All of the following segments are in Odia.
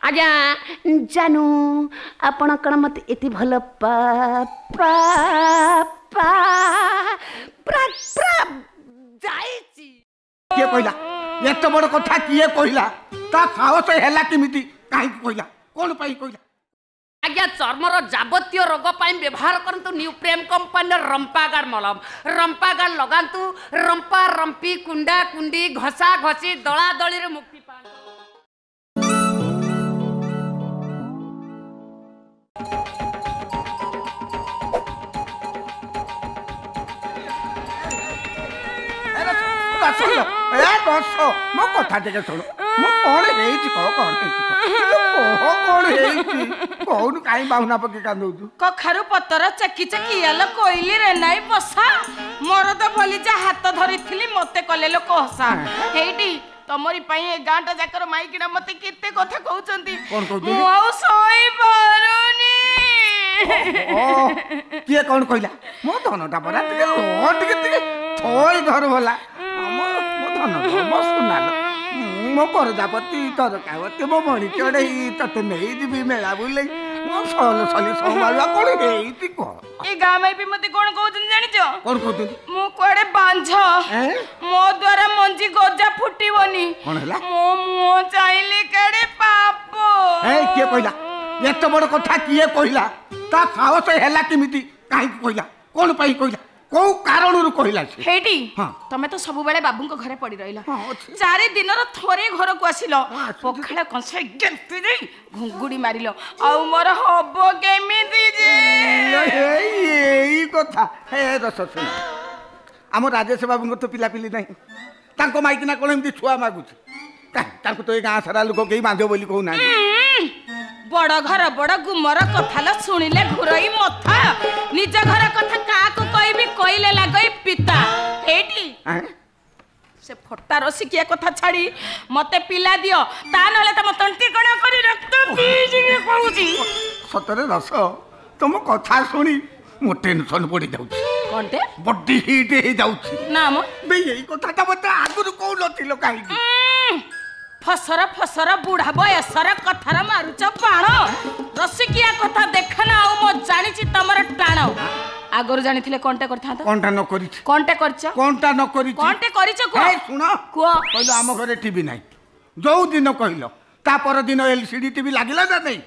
ଆଜ୍ଞା ଜାନୁ, ଆପଣ କ'ଣ ମୋତେ ଏତେ ଭଲ ପା ପା ପା ପୁରା ପୁରା ଯାଇଛି? କିଏ କହିଲା ଏତେ ବଡ଼ କଥା? କିଏ କହିଲା? ତା ସାହସ ହେଲା କେମିତି? କାହିଁକି କହିଲା? କ'ଣ ପାଇଁ କହିଲା? ଆଜ୍ଞା, ଚର୍ମର ଯାବତୀୟ ରୋଗ ପାଇଁ ବ୍ୟବହାର କରନ୍ତୁ ନ୍ୟୁ ପ୍ରେମ୍ କମ୍ପାନୀର ରମ୍ପାଗାର୍ଡ ମଲମ। ରମ୍ପାଗାର୍ଡ ଲଗାନ୍ତୁ, ରମ୍ପା ରମ୍ପି, କୁଣ୍ଡା କୁଣ୍ଡି, ଘଷା ଘଷି, ଦଳା ଦଳିରେ ମୁକ୍ତି ପାଆନ୍ତୁ। ଏ ରସ, ମୋ କଥା ଟିକେ ଶୁଣ। ମୁଁ କ'ଣ ହେଇଛି କହ, କ'ଣ ହେଇଛି କହ, କ'ଣ ହେଇଛି କହୁନୁ? କାହିଁ ବାହୁନା ପକେଇ କାନ୍ଦଉଛୁ? କଖାରୁ ପତର ଚେକି ଚେକି ଆଲ କୋଇଲି ରେ ନାଇଁ ବସା, ମରଦ ବୋଲି ଯା ହାତ ଧରିଥିଲି ମତେ କଲେ ଲୋକ ହସା। ହେଇଟି ତମରି ପାଇଁ ଏ ଗାଁଟା ଯାକର ମାଇକିନା ମତେ କେତେ କଥା କହୁଛନ୍ତି, ମୁଁ ଆଉ ସହିପାରୁନି। କିଏ କ'ଣ କହିଲା? ମୋ ଧନଟା ପରା, ଟିକେ ଟିକେ ଟିକେ ଥଇ ଧର ଭଲା। ମୋ ଧନ, ମୋ ସୁନାଲ, ମୋ ପରଜାପତି ତରକାବତୀ, ମୋ ମଣି ଚଢ଼େଇ, ତତେ ନେଇଯିବି ମେଳା ବୁଲେଇ, ମୋ ସଲ ସଲି ସମ୍ଭାଳିବା। କ'ଣ ହେଇଛି କହ? ଏ ଗାଁ ମାଇପି ମତେ କ'ଣ କହୁଛନ୍ତି ଜାଣିଛ? କ'ଣ କହୁଛନ୍ତି? ମୁଁ କୁଆଡେ ବାଞ୍ଝ, ମୋ ଦ୍ୱାରା ମଞ୍ଜି ଗଜା ଫୁଟିବନି। କ'ଣ ହେଲା? ମୋ ମୁହଁ ଚାହିଁଲେ କାଡେ ପାପ। ଏ କିଏ କହିଲା ଏତେ ବଡ଼ କଥା? କିଏ କହିଲା? ତା ସାହସ ହେଲା କେମିତି? କାହିଁକି କହିଲା? କ'ଣ ପାଇଁ କହିଲା? କୋଉ କାରଣରୁ କହିଲା? ହେଇଟି ତମେ ତ ସବୁବେଳେ ବାବୁଙ୍କ ଘରେ ପଡି ରହିଲ, 4 ଦିନର ଥରେ ଘରକୁ ଆସିଲ, ପଖାଳ କଂସା ଗେମ୍ପି ଦେଇ ଘୁଙ୍ଗୁଡି ମାରିଲ, ଆଉ ମୋର ହବ କେମିତି ଯେ? ଏଇ କଥା ହେ ରସ ଶୁଣ, ଆମ ରାଜେଶ ବାବୁଙ୍କ ତ ପିଲାପିଲି ନାହିଁ, ତାଙ୍କ ମାଇକିନା କ'ଣ ଏମିତି ଛୁଆ ମାଗୁଛି? ତାଙ୍କୁ ତ ଏ ଗାଁ ସାରା ଲୋକ କେହି ବାନ୍ଧିବ ବୋଲି କହୁନାହାନ୍ତି। ବଡ ଘର ବଡ ଗୁମର କଥା ଶୁଣିଲେ ଘୁରଇ ମଥା, ନିଜ ଘର କଥା କାହାକୁ କହିବି, କହିଲେ ଲାଗଇ ପିତା। ହେଇଟି ସେ ଫଟା ରସିକିଆ କଥା ଛାଡି ମତେ ପିଲା ଦିଅ, ତା ନହେଲେ ତମ ତଣ୍ଟି କଣ କରି ରକ୍ତ ପିଇଯିବି କହୁଛି। ସତରେ ରସ, ତମ କଥା ଶୁଣି ମୋ ଟେନସନ ପଡି ଯାଉଛି। କଣଟେ? ବଡି ହିଟ୍ ହେଇଯାଉଛି। ନା ମ ଏଇ କଥାଟା ମତେ ଆଗରୁ କହୁନଥିଲ କାହିଁକି? ଫସର ଫସର ବୁଢା ବୟସର କଥାର ମାରୁଛ ବାଣ, ରସିକିଆ କଥା ଦେଖ ନା। ଆଉ ମୁଁ ଜାଣିଛି ତମର ଟାଣ, ଆଗରୁ ଜାଣିଥିଲେ କଣଟା କରିଥାନ୍ତ? କଣଟା ନ କରିଛି? କଣଟା କରିଛ? କଣଟା ନ କରିଛି? କଣଟେ କରିଛ କୁହ। ଶୁଣ, କୁହ। କହିଲ ଆମ ଘରେ ଟିଭି ନାହିଁ, ଯୋଉ ଦିନ କହିଲ ତା ପରଦିନ ଏଲସିଡି ଟିଭି ଲାଗିଲା ନା ନାଇଁ?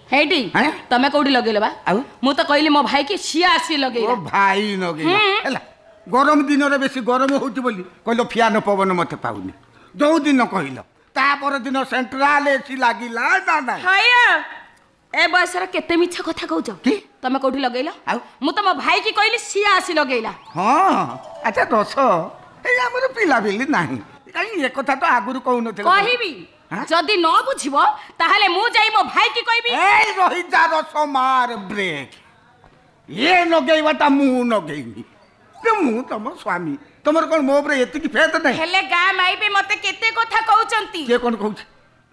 ହେଇଟି ତମେ କୋଉଠି ଲଗେଇଲ ବା? ଆଉ ମୁଁ ତ କହିଲି ମୋ ଭାଇ କି, ସିଏ ଆସି ଲଗେଇଲା। ଭାଇ ଲଗେଇଲା ହେଲା। ଗରମ ଦିନରେ ବେଶୀ ଗରମ ହଉଛି ବୋଲି କହିଲ ଫ୍ୟାନ ପବନ ମତେ ପାଉନି, ଯୋଉ ଦିନ କହିଲ ତା ପରଦିନ ସେଣ୍ଟ୍ରାଲ ଏସି ଲାଗିଲା ନା ନାଇଁ? ଏ ବୟସରେ କେତେ ମିଛ କଥା କହୁଛ କି? ତମେ କୋଉଠି ଲଗେଇଲ? ଆଉ ମୁଁ ତ ମୋ ଭାଇ କି କହିଲି, ସିଏ ଆସି ଲଗେଇଲା। ହଁ ଆଚ୍ଛା ଦଶ, ଏଇ ଆମର ପିଲାପିଲି ନାହିଁ କାହିଁ, ଏ କଥା ତ ଆଗରୁ କହୁନଥିଲେ। କହିବି ଯଦି ନ ବୁଝିବ ତାହେଲେ ମୁଁ ଯାଇ ମୋ ଭାଇ କି କହିବି। ଏଇ ରହିଯା ରସ, ମାର ବ୍ରେକ୍। ଇଏ ଲଗେଇବାଟା ମୁଁ ଲଗେଇନି, ମୁଁ ତମ ସ୍ୱାମୀ, ତମର କ'ଣ ମୋ ଉପରେ ଏତିକି ଫେତ ନାହିଁ? ହେଲେ ଗାଁ ମାଇପି ମତେ କେତେ କଥା କହୁଛନ୍ତି। କିଏ କ'ଣ କହୁଛି?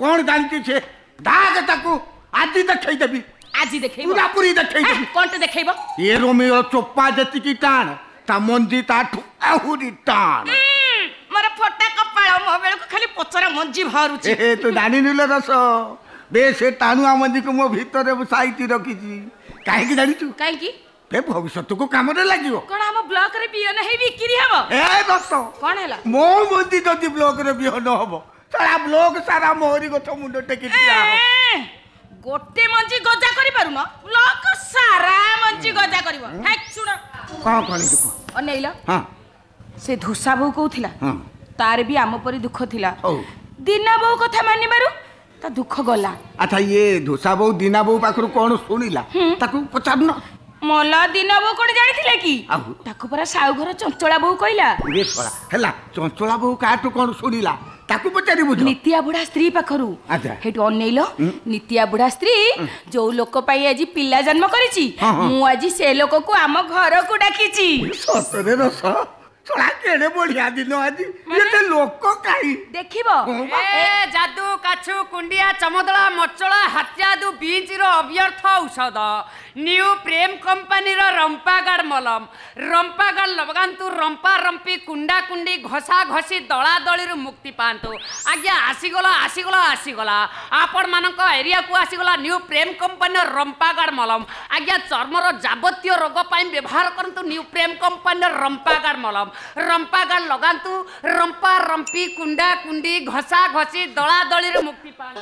କ'ଣ ଜାଣିଛି ସେ? ଡାକ ତାକୁ, ଆଜି ଦେଖେଇଦେବି। ଆଜି ଦେଖେଇବ? ପୁରାପୁରି ଦେଖେଇଦେବି। କ'ଣଟେ ଦେଖେଇବ? ଏ ରୋମିଓ ଚୋପା ଯେତିକି ଟାଣ, ତା ମଞ୍ଜି ତାଠୁ ଆହୁରି ଟାଣ। ମୋର ଫଟା କପାଳ, ମୋ ବେଳକୁ ଖାଲି ପଚରା ମଞ୍ଜି ବାହାରୁଛି। ତୁ ଜାଣିନୁ ରସ, ବେ ସେ ଟାଣୁଆ ମଞ୍ଜିକୁ ମୋ ଭିତରେ ସାଇତି ରଖିଛି। କାହିଁକି ଜାଣିଛୁ? କାହିଁକି? ଏ ଭବିଷ୍ୟତକୁ କାମରେ ଲାଗିବ। କଣ ଆମ ବ୍ଲକରେ ବିହନ ହେଇ ବିକ୍ରି ହବ? ଏ ଦୋସ୍ତ, କଣ ହେଲା? ମୋ ମଞ୍ଜି ଯଦି ବ୍ଲକରେ ବିହନ ହବ, ସାରା ବ୍ଲକ ସାରା ମୋରି ଗଛ ମୁଣ୍ଡ ଟେକି ଠିଆ ହବ। ଗୋଟେ ମଞ୍ଜି ଗଜା କରିପାରୁନ, ବ୍ଲକ ସାରା ମଞ୍ଜି ଗଜା କରିବ? ଶୁଣ, କଣ କଣ ଅନେଇଲ। ହଁ, ସେ ଧୂସା ବୋଉ କହୁଥିଲା ତାର ବି ଆମ ପରି ଦୁଃଖ ଥିଲା, ଦିନା ବୋଉ କଥା ମାନିବାରୁ ତା ଦୁଃଖ ଗଲା। ଆଚ୍ଛା, ଇଏ ଧୂସା ବୋଉ ଦିନା ବୋଉ ପାଖରୁ କଣ ଶୁଣିଲା ତାକୁ ପଚାରୁନ? ମଲା ଦିନ ବୋଉ କଣ ଜାଣିଥିଲେ କି? ତାକୁ ପରା ସାଉ ଘର ଚଞ୍ଚଳା ବୋଉ କହିଲା। ହେଲା, ଚଞ୍ଚଳା ବୋଉ କାହାଠୁ କଣ ଶୁଣିଲା ତାକୁ ପଚାରିବୁ? ନିତିଆ ବୁଢା ସ୍ତ୍ରୀ ପାଖରୁ। ସେଇଠୁ ଅନେଇଲ, ନିତିଆ ବୁଢା ସ୍ତ୍ରୀ ଯୋଉ ଲୋକ ପାଇଁ ଆଜି ପିଲା ଜନ୍ମ କରିଛି, ମୁଁ ଆଜି ସେ ଲୋକକୁ ଆମ ଘରକୁ ଡାକିଛି। ସତରେ ରସ, ଶଳା କେଡ଼େ ବଢିଆ ଦିନ ଆଜି, ଏତେ ଲୋକ କାହିଁ ଦେଖିବ। ଏ ଯାଦୁ କାଛୁ କୁଣ୍ଡିଆ ଚମଦଳା ମଚଳା ହାତ୍ୟାଦୁ ବିଞ୍ଚିର ଅବ୍ୟର୍ଥ ଔଷଧ ନ୍ୟୁ ପ୍ରେମ କମ୍ପାନୀର ରମ୍ପାଗାର୍ଡ ମଲମ। ରମ୍ପାଗାର୍ଡ ଲଗାନ୍ତୁ, ରମ୍ପା ରମ୍ପି କୁଣ୍ଡା କୁଣ୍ଡି ଘଷା ଘଷି ଦଳା ଦଳିରୁ ମୁକ୍ତି ପାଆନ୍ତୁ। ଆଜ୍ଞା ଆସିଗଲା ଆସିଗଲା ଆସିଗଲା, ଆପଣମାନଙ୍କ ଏରିଆକୁ ଆସିଗଲା ନ୍ୟୁ ପ୍ରେମ କମ୍ପାନୀର ରମ୍ପାଗାର୍ଡ ମଲମ। ଆଜ୍ଞା ଚର୍ମର ଯାବତୀୟ ରୋଗ ପାଇଁ ବ୍ୟବହାର କରନ୍ତୁ ନ୍ୟୁ ପ୍ରେମ କମ୍ପାନୀର ରମ୍ପାଗାର୍ଡ ମଲମ। ରମ୍ପାଗାର୍ଡ ଲଗାନ୍ତୁ, ରମ୍ପା ରମ୍ପି କୁଣ୍ଡା କୁଣ୍ଡି ଘଷା ଘଷି ଦଳା ଦଳିରୁ ମୁକ୍ତି ପାଆନ୍ତୁ।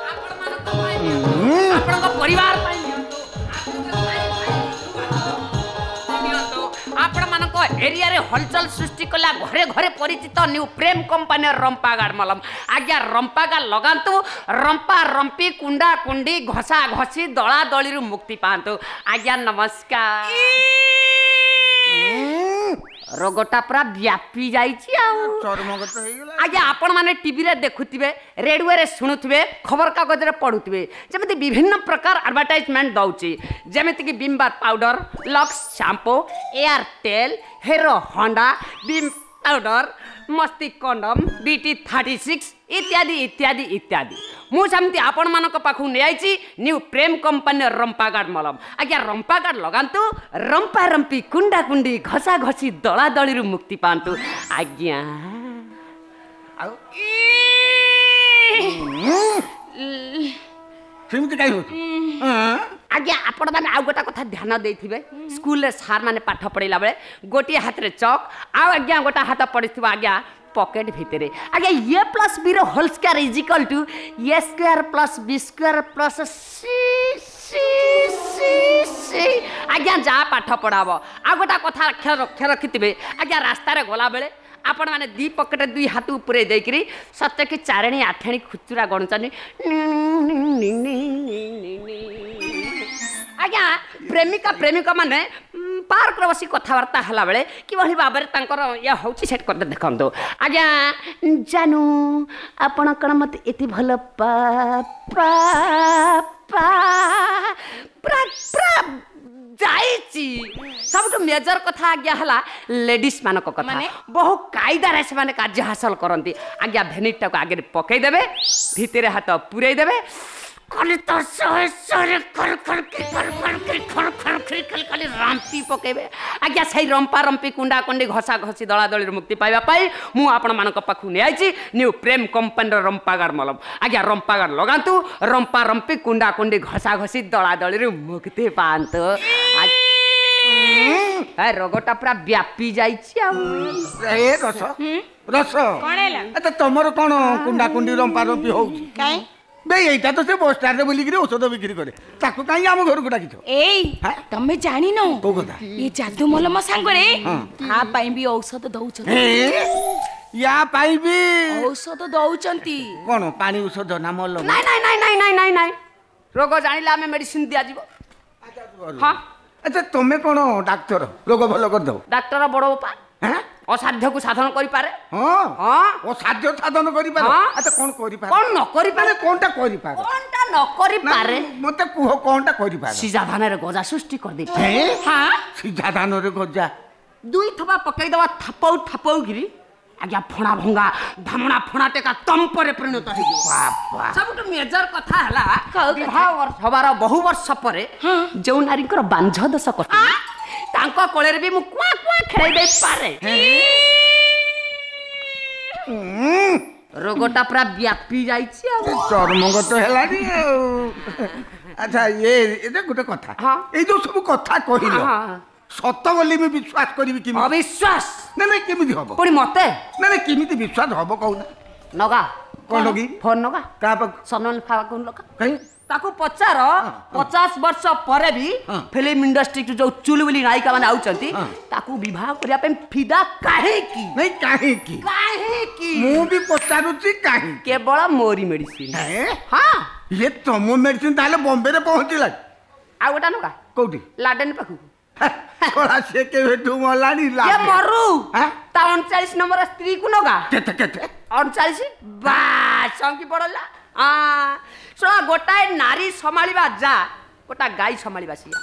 ଆପଣମାନଙ୍କ ପାଇଁ ନିଅନ୍ତୁ, ଆପଣଙ୍କ ପରିବାର ପାଇଁ ନିଅନ୍ତୁ, ନିଅନ୍ତୁ। ଆପଣମାନଙ୍କ ଏରିଆରେ ହଲଚଲ ସୃଷ୍ଟି କଲା ଘରେ ଘରେ ପରିଚିତ ନ୍ୟୁ ପ୍ରେମ କମ୍ପାନୀର ରମ୍ପାଗାର୍ଡ ମଲମ। ଆଜ୍ଞା ରମ୍ପାଗାର୍ଡ ଲଗାନ୍ତୁ, ରମ୍ପା ରମ୍ପି କୁଣ୍ଡା କୁଣ୍ଡି ଘଷା ଘଷି ଦଳା ଦଳିରୁ ମୁକ୍ତି ପାଆନ୍ତୁ। ଆଜ୍ଞା ନମସ୍କାର। ରୋଗଟା ପୁରା ବ୍ୟାପି ଯାଇଛି ଆଉ ଚର୍ମଗତ ହେଇଗଲା। ଆଜ୍ଞା ଆପଣମାନେ ଟିଭିରେ ଦେଖୁଥିବେ, ରେଡ଼ିଓରେ ଶୁଣୁଥିବେ, ଖବରକାଗଜରେ ପଢ଼ୁଥିବେ, ଯେମିତି ବିଭିନ୍ନ ପ୍ରକାର ଆଡ଼ଭର୍ଟାଇଜମେଣ୍ଟ ଦେଉଛି, ଯେମିତିକି Vim bar powder, Lux shampoo, Airtel, Hero Honda, Vim powder, Masti condom, BT 36 ଇତ୍ୟାଦି ଇତ୍ୟାଦି ଇତ୍ୟାଦି। ମୁଁ ସେମିତି ଆପଣମାନଙ୍କ ପାଖକୁ ନେଇଆଇଛି ନ୍ୟୁ ପ୍ରେମ କମ୍ପାନୀର ରମ୍ପାଗାର୍ଡ ମଲମ। ଆଜ୍ଞା ରମ୍ପାଗାର୍ଡ ଲଗାନ୍ତୁ, ରମ୍ପା ରମ୍ପି କୁଣ୍ଡା କୁଣ୍ଡି ଘଷା ଘଷି ଦଳା ଦଳିରୁ ମୁକ୍ତି ପାଆନ୍ତୁ। ଆଜ୍ଞା ଆଉ ସେମିତି କାହିଁ ହଉଛି? ଆଜ୍ଞା ଆପଣମାନେ ଆଉ ଗୋଟେ କଥା ଧ୍ୟାନ ଦେଇଥିବେ, ସ୍କୁଲରେ ସାର୍ ମାନେ ପାଠ ପଢ଼ିଲା ବେଳେ ଗୋଟିଏ ହାତରେ ଚକ୍ ଆଉ ଆଜ୍ଞା ଗୋଟେ ହାତ ପଡ଼ିଥିବ ଆଜ୍ଞା ପକେଟ ଭିତରେ। ଆଜ୍ଞା ଏ plus Veer whole square is equal to A square plus B square plus C C C C. ଆଜ୍ଞା ଯାହା ପାଠ ପଢ଼ାବ। ଆଉ ଗୋଟେ କଥା ଲକ୍ଷ୍ୟ ରଖିଥିବେ, ଆଜ୍ଞା ରାସ୍ତାରେ ଗଲାବେଳେ ଆପଣମାନେ ଦୁଇ ପକେଟ ଦୁଇ ହାତ ଉପରେ ଦେଇକିରି ସତେ କି ଚାରେଣୀ ଆଠେଣୀ ଖୁଚୁରା ଗଣୁଛନ୍ତି। ଆଜ୍ଞା ପ୍ରେମିକା ପ୍ରେମିକ ମାନେ ପାର୍କରେ ବସି କଥାବାର୍ତ୍ତା ହେଲାବେଳେ କିଭଳି ଭାବରେ ତାଙ୍କର ଇଏ ହେଉଛି ସେଠି କଥା ଦେଖନ୍ତୁ। ଆଜ୍ଞା ଜାନୁ ଆପଣ କ'ଣ ମୋତେ ଏତେ ଭଲ ପା ପା ପା ପୁରା ପୁରା ଯାଇଛି। ସବୁଠୁ ମେଜର କଥା ଆଜ୍ଞା ହେଲା ଲେଡିସ୍ ମାନଙ୍କ କଥା, ବହୁ କାଇଦାରେ ସେମାନେ କାର୍ଯ୍ୟ ହାସଲ କରନ୍ତି। ଆଜ୍ଞା ଭେନିଟାକୁ ଆଗରେ ପକେଇଦେବେ, ଭିତରେ ହାତ ପୁରେଇ ଦେବେ, ଖାଲି ତ ଶହେ ଶହେ ଖର ଖର ଖର ଖର ଖର ଖର ଖର ଖାଲି ଖାଲି ରାମ୍ପି ପକେଇବେ। ଆଜ୍ଞା ସେଇ ରମ୍ପା ରମ୍ପି କୁଣ୍ଡା କୁଣ୍ଡି ଘଷା ଘଷି ଦଳାଦଳିରୁ ମୁକ୍ତି ପାଇବା ପାଇଁ ମୁଁ ଆପଣମାନଙ୍କ ପାଖକୁ ନେଇଆଇଛି ନ୍ୟୁ ପ୍ରେମ କମ୍ପାନୀର ରମ୍ପାଗାର୍ଡ ମଲମ। ଆଜ୍ଞା ରମ୍ପାଗାର୍ଡ ଲଗାନ୍ତୁ, ରମ୍ପା ରମ୍ପି କୁଣ୍ଡା କୁଣ୍ଡି ଘଷା ଘଷି ଦଳାଦଳିରୁ ମୁକ୍ତି ପାଆନ୍ତୁ। ରୋଗଟା ପୁରା ବ୍ୟାପି ଯାଇଛି ଆଉ। ଏ ରସ ରସ କଣ ହେଲା? ଆଚ୍ଛା ତମର କଣ କୁଣ୍ଡା କୁଣ୍ଡି ରମ୍ପା ରମ୍ପି ହଉଛି? କାଇଁ ବେ ଏଇଟା ତ ସେ ବସଷ୍ଟାଣ୍ଡରେ ବୁଲିକିରି ଔଷଧ ବିକ୍ରି କରେ, ତାକୁ କାହିଁ ଆମ ଘରକୁ ଡାକିଛ? ଏଇ ତମେ ଜାଣିନ କୋଉ କଥା? ଏ ଯାଦୁ ମଲମ ସାଙ୍ଗରେ ଆ ପାଇଁ ବି ଔଷଧ ଦଉଛନ୍ତି। ୟା ପାଇଁ ବି ଔଷଧ ଦଉଛନ୍ତି? କଣ ପାଣି ଔଷଧ ନା ମଲମ? ନାଇଁ ନାଇଁ ନାଇଁ ନାଇଁ ନାଇଁ ନାଇଁ ନାଇଁ, ରୋଗ ଜାଣିଲେ ଆମେ ମେଡିସିନ ଦିଆଯିବ। ହଁ ଆଚ୍ଛା ତମେ କଣ ଡାକ୍ତର, ରୋଗ ଭଲ କରିଦବ? ଡାକ୍ତର ବଡ ବାପା ଅସାଧ୍ୟକୁ ସାଧନ କରିପାରେ। ହଁ ଅସାଧ୍ୟ ସାଧନ କରିପାରେ। ଆଚ୍ଛା କଣ କରିପାରେ? କଣ ନ କରିପାରେ? କଣଟା କରିପାରେ? କଣଟା ନ କରିପାରେ ମତେ କୁହ, କଣଟା କରିପାରେ? ସିଝା ଧାନରେ ଗଜା ସୃଷ୍ଟି କରିଦେଇପାରେ। ହଁ ସିଝା ଧାନରେ ଗଜା? ଦୁଇ ଥୋପା ପକେଇଦବା ଥାପଉ ଥାପଉ କିରି ଆଜ୍ଞା ଫଣା ଭଙ୍ଗା ଧାମଣା ଫଣା ଟେକା ତମ୍ପରେ ପରିଣତ ହେଇଯିବ। ସବୁଠୁ ମେଜର କଥା ହେଲା ବିବାହ ହବାର ବହୁ ବର୍ଷ ପରେ ଯେଉଁ ନାରୀଙ୍କର ବାଞ୍ଝ ଦୋଷ କଟେ ତାଙ୍କ କୋଳରେ ବି ମୁଁ କୁଆଁ କୁଆଁ ଖେଳେଇ ଦେଇପାରେ। ରୋଗଟା ପୁରା ବ୍ୟାପି ଯାଇଛି ଆଉ ଚର୍ମଗତ ହେଲାଣି ଆଉ। ଆଚ୍ଛା ଇଏ ଗୋଟେ କଥା, ଏଇ ଯୋଉ ସବୁ କଥା କହିଲ ସତ ବୋଲି ମୁଁ ବିଶ୍ୱାସ କରିବି କେମିତି? ଅବିଶ୍ୱାସ? ନାଇଁ ନାଇଁ କେମିତି ହବ ପୁଣି ମତେ? ନାଇଁ ନାଇଁ କେମିତି ବିଶ୍ୱାସ ହବ କହୁନା? ନଗା କଣ ଲଗେଇ ଫୋନ ନଗା କାହା ପାଖକୁ? ସନଲ ପାଖକୁ ଲଗା। କାଇଁ ତାକୁ ପଚାର, 50 ବର୍ଷ ପରେ ବି ଫିଲ୍ମ ଇଣ୍ଡଷ୍ଟ୍ରିକୁ ଯୋଉ ଚୁଲୁବୁଲି ନାୟିକା ମାନେ ଆଉଛନ୍ତି ତାକୁ ବିବାହ କରିବା ପାଇଁ ଫିଦା କାହିଁକି? ନାଇଁ କାହିଁକି କାହିଁକି ମୁଁ ବି ପଚାରୁଛି କାହିଁକି? କେବଳ ମୋରି ମେଡିସିନ। ହଁ ଇଏ ତମ ମେଡିସିନ ତାହେଲେ ବମ୍ବେରେ ପହଞ୍ଚିଲା। ଆଉ ଗୋଟା ନଗା କୋଉଠି? ଲାଡେନ ପାଖକୁ। ସେ କେବେଠୁ ମଲାଣି। ମରୁ ତା 39 ନମ୍ବର ସ୍ତ୍ରୀକୁ ନଗା। କେତେ କେତେ? 39 ବାସ୍ ଚଙ୍କି ପଡିଲା। ଶୁଣ ଗୋଟାଏ ନାରୀ ସମ୍ଭାଳିବା ଯା ଗୋଟା ଗାଈ ସମ୍ଭାଳିବା ସିଆ।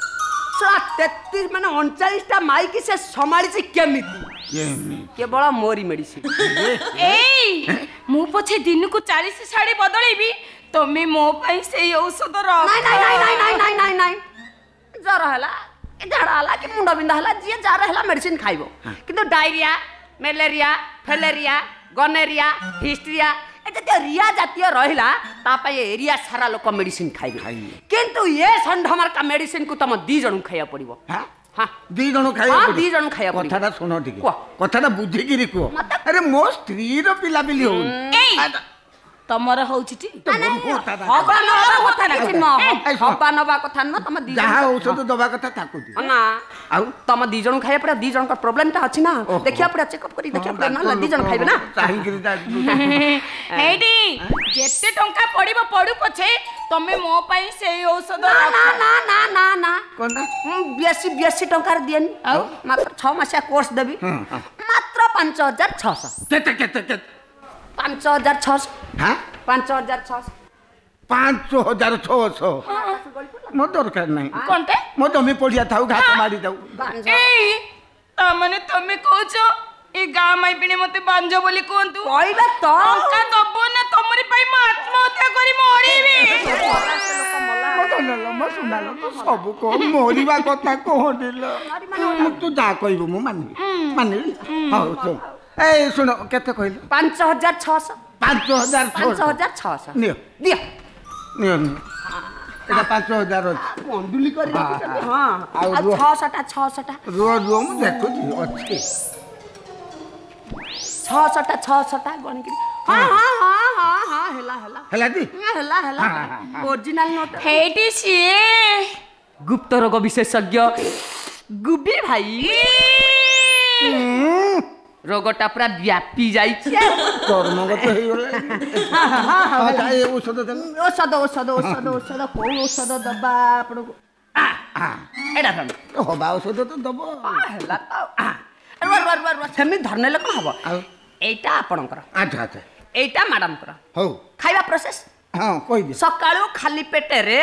ଶୁଣ 33 ମାନେ 39ଟା ମାଇକି ସେ ସମ୍ଭାଳିଛି କେମିତି? କେବଳ ମୋରି ମେଡିସିନ। ଏଇ ମୁଁ ପଛେ ଦିନକୁ 40 ଶାଢୀ ବଦଳେଇବି, ତମେ ମୋ ପାଇଁ ସେଇ ଔଷଧ ନାଇଁ ନାଇଁ ନାଇଁ ନାଇଁ ନାଇଁ ନାଇଁ ନାଇଁ ନାଇଁ ଜ୍ୱର ହେଲା, ଝାଡ଼ା ହେଲା କି ମୁଣ୍ଡ ବିନ୍ଧା ହେଲା, ଯିଏ ଯାହାର ହେଲା ମେଡିସିନ ଖାଇବ। କିନ୍ତୁ ଡାଇରିଆ, ମ୍ୟାଲେରିଆ, ଫେଲେରିଆ, ଗନେରିଆ, ହିଷ୍ଟ୍ରିଆ, ଏ ଜାତୀୟ ରିଆ ଜାତୀୟ ରହିଲା, ତା ପାଇଁ ଏରିଆ ସାରା ଲୋକ ମେଡିସିନ ଖାଇବେ। କିନ୍ତୁ ଏ ଷଣ୍ଢମାର୍କା ମେଡିସିନକୁ ତମ ଦି ଜଣଙ୍କୁ ଖାଇବାକୁ ପଡିବ। ହଁ, ଦି ଜଣ ଖାଇବା? ଦି ଜଣ ଖାଇବା। କଥାଟା ଶୁଣ ଟିକେ, କଥାଟା ବୁଝିକିରି କୁହ। ଆରେ ମୋ ସ୍ତ୍ରୀର ପିଲାପିଲି ହଉନି। ତମର ହଉଛି? ହବା ନବା କଥା ନୁହଁ, ତମ ଯାହା ଔଷଧ ଦବା କଥା ତାକୁ ନା। ଆଉ ତମ ଦି ଜଣ ଖାଇବା ପଡିବ। ଦି ଜଣଙ୍କ ପ୍ରୋବ୍ଲେମଟା ଅଛି ନା, ଦେଖିବା ପଡିବ, ଚେକଅପ୍ କରି ଦେଖିବା ପଡିବ। ନହେଲେ ଦି ଜଣ ଖାଇବେ ନା। ଏଇଠି ଯେତେ ଟଙ୍କା ପଡିବ ପଡୁ ପଛେ, ତମେ ମୋ ପାଇଁ ସେଇ ଔଷଧ। ନା ନା ନା ନା ନା, ବେଶୀ ବେଶୀ ଟଙ୍କାରେ ଦିଏନି। ଆଉ ମାତ୍ର 6 ମାସିଆ କୋର୍ସ ଦେବି, ମାତ୍ର 5600। କେତେ କେତେ କେତେ? 5600। 5600। 5600 ମୋ ଦରକାର ନାହିଁ। କଣଟେ? ମୋ ଜମି ପଡ଼ିଆ ଥାଉ, ଘାସ ମାରି ଯାଉ। ଏଇ ତା ମାନେ ତମେ କହୁଛ ଏ ଗାଁ ମାଇପିଣି ମତେ ବାଞ୍ଜ ବୋଲି କୁହନ୍ତୁ? କହିବେ ତ। ଟଙ୍କା ଦବ ନା ତମରି ପାଇଁ ମୁଁ ଆତ୍ମହତ୍ୟା କରି ମରିବି? ମୋ ସୁନାଲ, ତୁ ସବୁ କହ, ମରିବା କଥା କହନିଲ। ତୁ ଯାହା କହିବୁ ମୁଁ ମାନିବି, ମାନିବି। ହଉ ଶୁଣ, ଏଇ ଶୁଣ, କେତେ କହିଲୁ? 5600। 5600। 5600। ନିଅ, ଦିଅ, ନିଅ ନିଅ, ଏଇଟା 5000 ଅଛି। କଣ୍ଡୁଲି କରି ରଖିଛନ୍ତି। ହଁ, ଆଉ 600ଟା, 600ଟା। ରୁହ ରୁହ, ମୁଁ ଦେଖୁଛି ଅଛି। 600ଟା, 600ଟା ଗଣିକିରି। ହଁ ହଁ ହଁ ହଁ ହଁ, ହେଲା ହେଲା ହେଲା ଟି, ହେଲା ହେଲା, ଓରିଜିନାଲ ନୋଟ। ହେଇଟି ସିଏ ଗୁପ୍ତ ରୋଗ ବିଶେଷଜ୍ଞ ଗୁବି ଭାଇ। ରୋଗଟା ପୁରା ବ୍ୟାପି ଯାଇଛି। ଚର୍ମଗତ ହେଇଗଲା। ଔଷଧ? ଔଷଧ ଔଷଧ ଔଷଧ ଔଷଧ, କୋଉ ଔଷଧ ଦବା ଆପଣଙ୍କୁ? ଏଇଟା ହବା ଔଷଧ ତ ଦବ। ହେଲା ତ। ରୁହ ରୁହ ରୁହ ରୁହ, ସେମିତି ଧରିନେଲେ କଣ ହବ? ଆଉ ଏଇଟା ଆପଣଙ୍କର। ଆଚ୍ଛା ଆଚ୍ଛା। ଏଇଟା ମ୍ୟାଡାମଙ୍କର। ହଉ, ଖାଇବା ପ୍ରୋସେସ? ହଁ, କହିଦିଅ। ସକାଳୁ ଖାଲି ପେଟରେ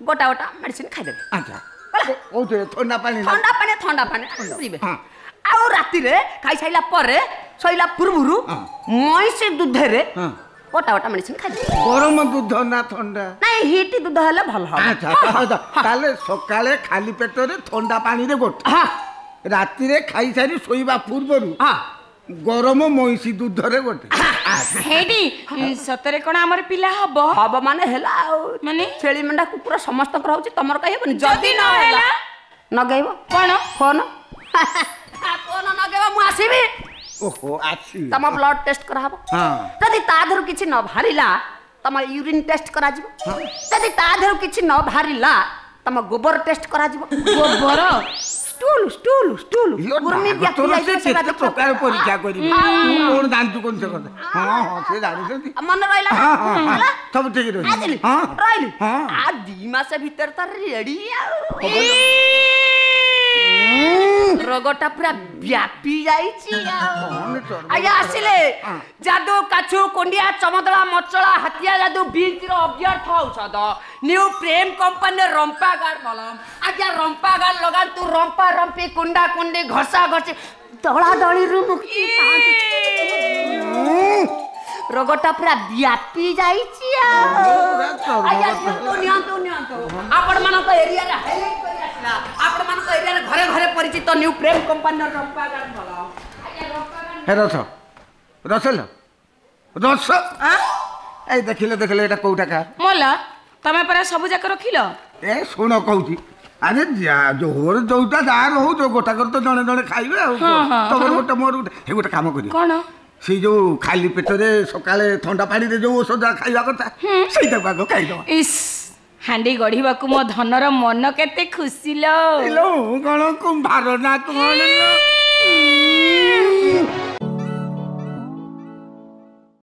ଗୋଟା ଗୋଟା ମେଡିସିନ ଖାଇଦେବେ। ଆଚ୍ଛା, କୋଉଥିରେ? ଥଣ୍ଡା ପାଣି? ଥଣ୍ଡା ପାଣି, ଥଣ୍ଡା ପାଣି ପିଇବେ। ଆଉ ରାତିରେ ଖାଇସାରିଲା ପରେ ଶୋଇଲା ପୂର୍ବରୁ ମଇଁଷି ଦୁଧରେ ଗୋଟା ଗୋଟା ମେଡିସିନ ଖାଇଦେବେ। ଗରମ ଦୁଧ ନା ଥଣ୍ଡା? ନାଇଁ, ହିଟ୍ ଦୁଧ ହେଲେ ଭଲ ହବ। ଆଚ୍ଛା, ତାହେଲେ ସକାଳେ ଖାଲି ପେଟରେ ଥଣ୍ଡା ପାଣିରେ ଗୋଟେ, ରାତିରେ ଖାଇସାରି ଶୋଇବା ପୂର୍ବରୁ ଗରମ ମଇଁଷି ଦୁଧରେ ଗୋଟେ। ହେଇଟି ସତରେ କଣ ଆମର ପିଲା ହବ? ହବ ମାନେ ହେଲା। ଆଉ ମାନେ ଛେଳି, ମେଣ୍ଢା, କୁକୁର ସମସ୍ତଙ୍କର ହଉଛି, ତମର କାହିଁ ହେବନି? ଯଦି ନ ହେଲା? ନଗେଇବ କଣ? ଫୋନ, ଫୋନ ନଗେଇବ, ମୁଁ ଆସିବି। ଓହୋ, ଆସିବି। ତମ ବ୍ଲଡ ଟେଷ୍ଟ କରାହବ। ଯଦି ତା ଦେହରୁ କିଛି ନ ବାହାରିଲା, ତମ ୟୁରିନ୍ ଟେଷ୍ଟ କରାଯିବ। ଯଦି ତା ଦେହରୁ କିଛି ନ ବାହାରିଲା, ତମ ଗୋବର ଟେଷ୍ଟ କରାଯିବ। ଗୋବର? Stool, stool, stool. କୁର୍ମି ବ୍ୟାପି ଯାଇଥିବ, ସେଟା କେତେ ପ୍ରକାର ପରୀକ୍ଷା କରିବି। ତୁ କଣ ଜାଣିଛୁ କଣ ସେ କଥା? ହଁ ହଁ, ସେ ଜାଣିଛନ୍ତି। ମନେ ରହିଲା? ସବୁ ଠିକ ରହିଛି। ରହିଲି। ଆ 2 ମାସ ଭିତରେ ତ ରେଡି। ଆଉ ରୋଗଟା ପୁରା ବ୍ୟାପି ଯାଇଛି। ଆଜ୍ଞା ଆସିଲେ ଯାଦୁ, କାଛୁ, କୁଣ୍ଡିଆ, ଚମଦଳା, ମଚଳା, ହାତିଆ ଯାଦୁ, ବିଞ୍ଚିର ଅବ୍ୟର୍ଥ ଔଷଧ, ନ୍ୟୁ ପ୍ରେମ କମ୍ପାନୀର ରମ୍ପା ଗାର୍ଡ ମଲମ। ଆଜ୍ଞା ରମ୍ପା ଗାର୍ଡ ଲଗାନ୍ତୁ, ରମ୍ପା ରମ୍ପି, କୁଣ୍ଡା କୁଣ୍ଡି, ଘଷା ଘଷି, ଦଳା ଦଳିରୁ ମୁକ୍ତି ପାଆନ୍ତୁ। ରୋଗଟା ପୁରା ବ୍ୟାପି ଯାଇଛି। ଆଜ୍ଞା ନିଅନ୍ତୁ ନିଅନ୍ତୁ ନିଅନ୍ତୁ। ଆପଣମାନଙ୍କ ଏରିଆରେ ହାଇଲାଇଟ୍ କରି ଆସିଲା, ଆପଣମାନଙ୍କ ଏରିଆରେ ଘରେ ଘରେ ପରିଚିତ ନ୍ୟୁ ପ୍ରେମ କମ୍ପାନୀର ରମ୍ପା ଗାର୍ଡ ମଲମ। ହେ ରସ, ରସଲ ରସ, ଏଇ ଦେଖିଲେ ଦେଖିଲେ, ଏଇଟା କୋଉଟା କାହା? ମଲା, ତମେ ପରା ସବୁ ଯାକ ରଖିଲ। ଏ ଶୁଣ କହୁଛି, ଆରେ ଯୋର ଯୋଉଟା ଯାହାର ହଉ, ଯୋଉ ଗୋଟାକର ତ ଜଣେ ଜଣେ ଖାଇବେ। ଆଉ ତମର ଗୋଟେ, ମୋର ଗୋଟେ। ହେ ଗୋଟେ କାମ କରିବ। କଣ? ସେଇ ଯୋଉ ଖାଲି ପେଟରେ ସକାଳେ ଥଣ୍ଡା ପାଣିରେ ଯୋଉ ଔଷଧ ଖାଇବା କଥା, ସେଇଟାକୁ ଆଗ ଖାଇଦବା। ଇସ୍, ହାଣ୍ଡି ଗଢିବାକୁ ମୋ ଧନର ମନ କେତେ ଖୁସି ଲୋ। କଣ କୁମ୍ଭାର ନା କଣ?